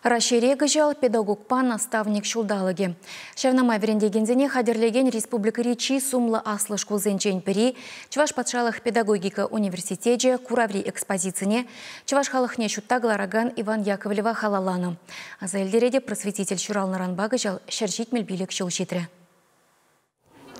Раҫҫейре кӑҫал педагогпа наставник ҫулталӑкӗ. Ҫавна май вӗрентекенсене хатӗрлекен республикӑри чи сумлӑ аслӑ шкулсенчен пӗри, Чӑваш патшалӑх педагогика университечӗ, кураври экспозицине чӑваш халӑхне ҫутта кӑларакан Иван Яковлева халалланӑ. Аса илтеретӗп, просветитель ҫуралнӑранпа кӑҫал 175 ҫул ҫитрӗ.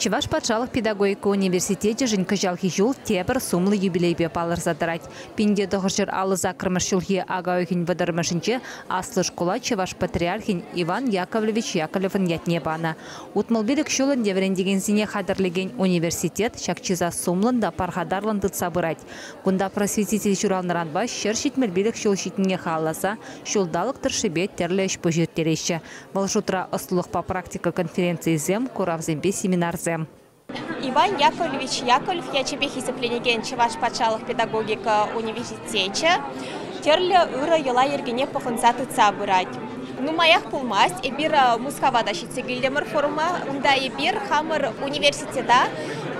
Чӑваш патшалӑх педагогика университечӗшӗн кӑҫалхи ҫул тепӗр сумлӑ юбилейпе палӑрса тӑрать. 1958 ҫулхи ака уйӑхӗн 30-мӗшӗнче аслӑ шкула Чӑваш патриархӗн Иван Яковлевич Яковлевӑн ятне панӑ. 65 ҫул ӗнтӗ вӗрентекенсене хатӗрлекен университет ҫак чыса сумлӑн та пархатарлӑн тытса пырать. Кунта просветитель ҫуралнӑранпа 175 ҫул ҫитнине халалласа ҫулталӑк тӑршшӗпе тӗрлӗ ӗҫ-пуҫ ирттереҫҫӗ. Вӑл шутра ӑслӑлӑхпа практика конференцийӗсем, куравсемпе семинарсем. Иван Яковлевич Яковлев ячӗпе хисепленекен Чӑваш патшалӑх педагогика университечӗ тӗрлӗ ырӑ йӑла-йӗркене пӑхӑнса тытса пырать. Нумаях пулмасть эпир Мускава та ҫитсе килтӗмӗр форума. Унта эпир хамӑр университета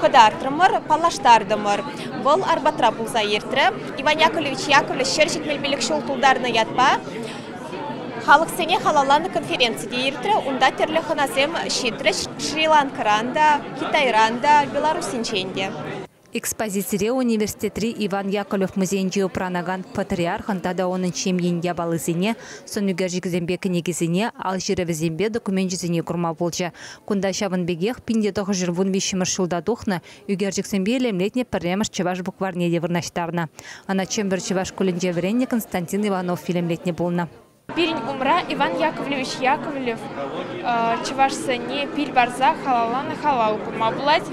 кӑтартрӑмӑр, паллаштартӑмӑр. Вӑл Арбатра пулса иртрӗ. Иван Яковлевич Яковлев 175 ҫул тултарнӑ ятпа халӑхсене халалланӑ конференци те иртрӗ. Унта тӗрлӗ хӑнасем ҫитрӗҫ. Шри-Ланкӑран та, Китайран та, Белоруссинчен те. Экспозицире университетри Иван Яковлев музейӗнче упранакан патриархӑн тата унӑн ҫемйин япалисене, сӑнӳкерчӗкӗсемпе кӗнекисене, ал ҫырӑвӗсемпе докуменчӗсене курма пулчӗ. Кунта ҫавӑн пекех 1913 ҫулта тухнӑ ӳкерчӗксемпе илемлетнӗ пӗрремӗш чӑваш букварьне те вырнаҫтарнӑ. Ӑна Чӗмпӗр чӑваш шкулӗнче вӗреннӗ Константин Иванов илемлетнӗ пулнӑ. Пирӗн умра Иван Яковлевич Яковлев чӑвашсене пил парса халалланӑ халал курма пулать.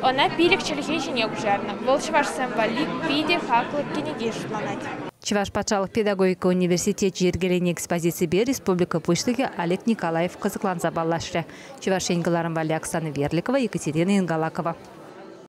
Ӑна 5 чӗлхе ҫине куҫарнӑ. Вӑл чӑвашсем валли питӗ хаклӑ кӗнеке шутланать. Чӑваш патшалӑх педагогика университечӗ йӗркеленӗ экспозиципе республика Пуҫлӑхӗ Олег Николаев кӑсӑкланса паллашрӗ. Чӑваш Ен кӑларӑм валли Оксана Верликова, Екатерина Ингалакова.